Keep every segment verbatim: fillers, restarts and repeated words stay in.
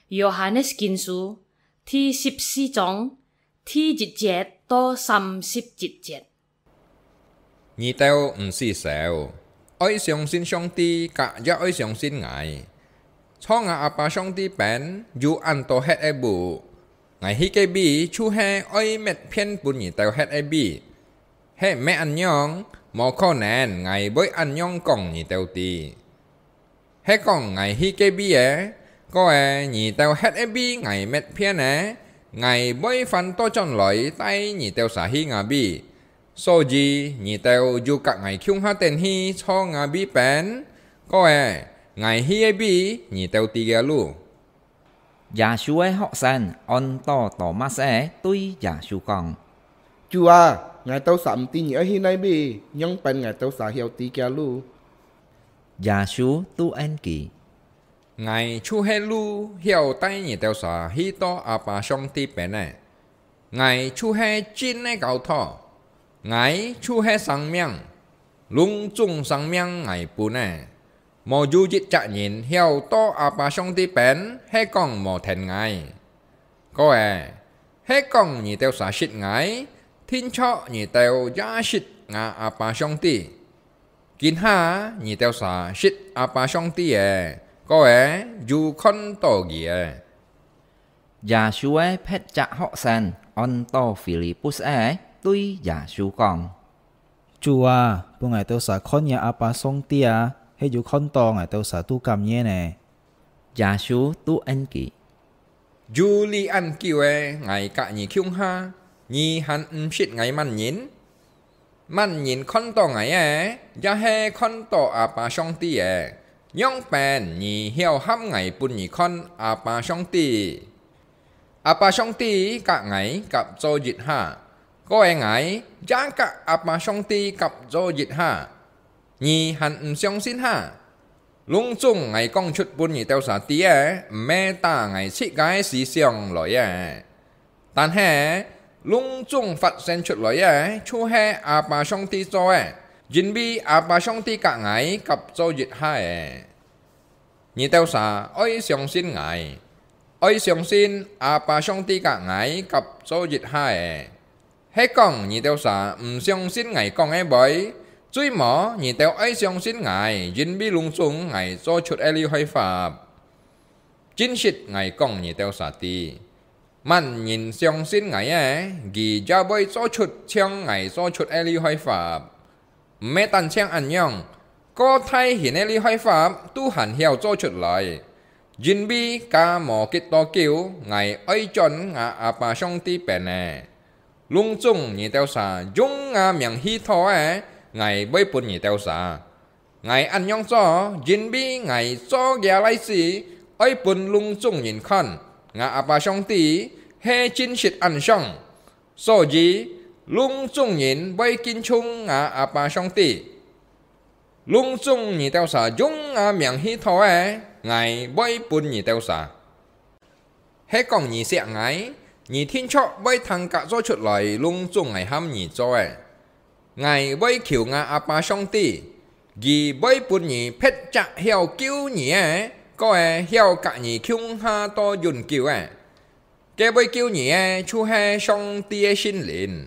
約翰福音書第十四章第一節到三十一節。你兜毋使愁，愛相信上帝，甲也愛相信𠊎。在𠊎阿爸上帝邊有恁多歇个屋，𠊎去个位就係愛搣片分你兜歇个位。係毋係恁樣，無可能𠊎會恁樣講你兜知。 係講𠊎去个位仔，過仔你兜歇个位𠊎搣片仔，𠊎會翻倒轉來帶你兜儕去吾位。所以你兜有甲𠊎共下等去在吾位邊，過仔𠊎去个位你兜知个路。 耶穌个學生安到多馬斯仔對耶穌講：「主啊，𠊎兜儕毋知你愛去哪位，仰般𠊎兜儕曉知个路？」耶穌就應佢：「𠊎就係路，曉帶你兜儕去到阿爸上帝邊仔。 𠊎就係真个教導，𠊎就係生命，攏總生命𠊎分个，無有一隻人曉到阿爸上帝邊係講無跈𠊎。過仔，係講你兜儕識𠊎，定著你兜也識吾阿爸上帝。今下你兜儕識阿爸上帝仔，過仔有看到佢仔。」 耶穌个別隻學生安到Filipus仔對耶穌講：「主啊，分𠊎兜儕看若阿爸上帝啊，係有看到𠊎兜儕都感恩呢。」耶穌就應佢：「有這恁久仔，𠊎甲你共下，你還毋識𠊎麼人？ 麼人看到𠊎仔，也係看到阿爸上帝仔，仰般你曉喊𠊎分你看阿爸上帝？阿爸上帝甲𠊎合做一下，過仔𠊎也甲阿爸上帝合做一下，你還毋相信哈？攏總𠊎講出分你兜儕知个，毋係打𠊎自家个思想來个。 但係，攏總發生出來个，就係阿爸上帝做个，因為阿爸上帝甲𠊎合做一下仔。你兜儕愛相信𠊎，愛相信阿爸上帝甲𠊎合做一下仔。係講你兜儕毋相信𠊎講个話，最無你兜愛相信𠊎，因為攏總𠊎做出个厲害法。 真實𠊎講你兜儕知，麼人相信𠊎个，佢也會做出像𠊎做出个厲害法。毋係單淨恁樣，過大型个厲害法都還曉做出來，因為加無幾多久，𠊎愛轉吾阿爸上帝邊仔。攏總你兜儕用吾名祈禱个，𠊎會分你兜儕。 𠊎恁樣做，因為𠊎做這例子，愛分攏總人看，吾阿爸上帝係真實恁想。所以，攏總人會敬重吾阿爸上帝。攏總你兜儕用吾名祈禱个，𠊎會分你兜儕。 係講你惜𠊎，你定著會聽甲做出來攏總𠊎喊你做个。𠊎會求吾阿爸上帝，佢會分你別隻曉救你个，過仔曉甲你共下到永久个。該會救你个就係上帝个聖靈。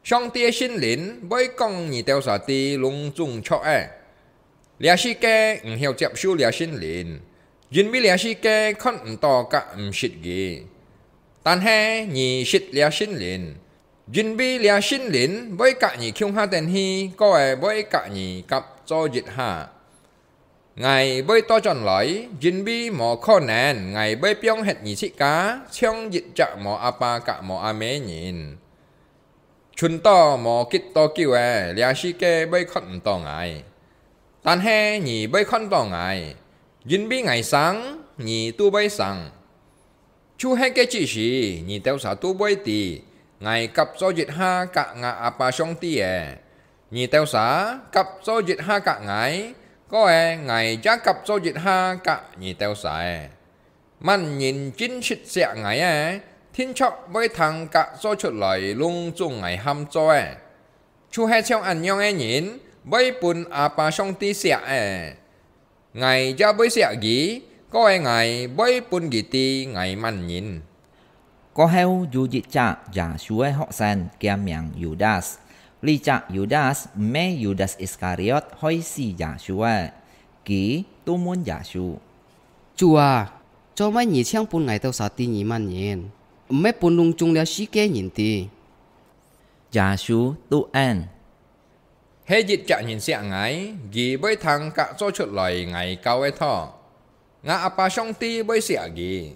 上帝个聖靈會講你兜儕知攏總著个。 這世界毋曉接受這聖靈，因為這世界看毋到甲毋識佢。但係你識這聖靈，因為這聖靈會甲你共下等去，過仔會甲你合做一下。𠊎會倒轉來，因為無可能𠊎會放忒你自家，像一隻無阿爸甲無阿姆个人。 賰到無幾多久仔，這世界會看毋到𠊎，但係你會看到𠊎，因為𠊎生，你都會生。就係該隻時，你兜儕都會知，𠊎合做一下甲吾阿爸上帝仔，你兜儕合做一下甲𠊎，過仔𠊎也合做一下甲你兜儕。 麼人真實惜𠊎个，定著會聽甲做出來攏總𠊎喊做个。就係像恁樣个人，會分阿爸上帝惜个。𠊎也會惜佢，過个𠊎會分佢知𠊎麼人。」過後有一隻耶穌个學生，佢名Yudas。這隻Yudas毋係Yudas Iskariot害死耶穌个。佢就問耶穌：「主啊，做麼你淨分𠊎兜儕知你麼人，毋係分攏總這世界人知？」耶穌就應：「係一隻人惜𠊎，佢會聽甲做出來𠊎教个道。吾阿爸上帝會惜佢。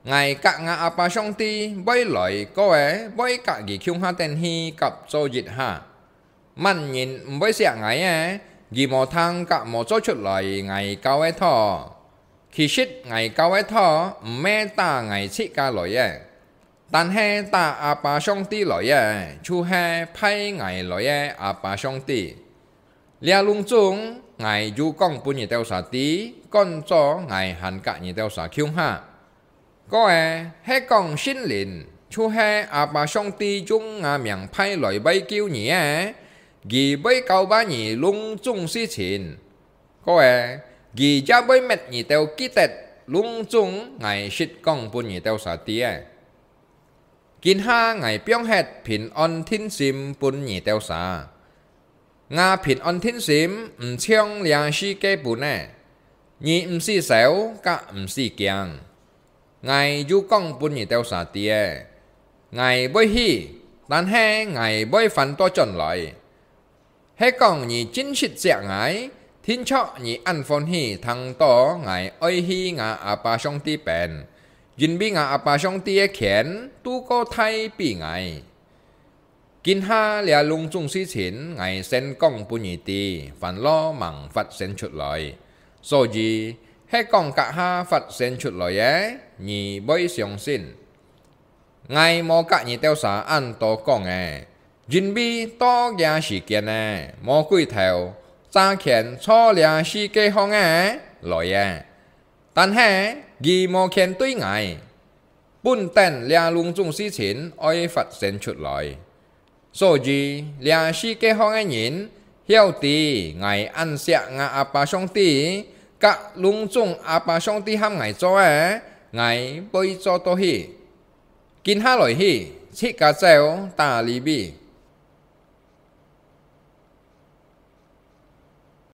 𠊎甲吾阿爸上帝會來，過个會甲佢共下等去甲做一下。麼人毋會惜𠊎个，佢無聽甲無做出來𠊎教个道。其實𠊎教个道毋係打𠊎自家來个， 但係打阿爸上帝來个，就係派𠊎來个阿爸上帝。這攏總𠊎有講分你兜儕知，趕早𠊎還甲你兜儕共下。過个係講聖靈，就係阿爸上帝用吾名派來會救你个，佢會教化你攏總事情。過个佢也會搣你兜記得攏總𠊎實講分你兜儕知个。」今下𠊎放忒平安定心分你兜儕。吾平安定心毋像這世界分个。你毋使愁，甲毋使驚。𠊎有講分你兜儕知个，𠊎會去，但係𠊎會翻倒轉來。 係講你真實惜𠊎，定著你恁歡喜聽到𠊎愛去吾阿爸上帝邊，因為吾阿爸上帝个權都過大比𠊎。今下這攏總事情𠊎先講分你知，還落吂發生出來。所以，係講甲下發生出來个，你會相信。 𠊎無甲你兜儕恁多講个，因為到這時間呢，魔鬼頭詐權坐這世界項个來个，但係佢無權對𠊎，分等這攏總事情愛發生出來。所以，這世界項个人曉得𠊎恁惜吾阿爸上帝，甲攏總阿爸上帝喊𠊎做个，𠊎會做到去。 今下來去，自家走，打利未，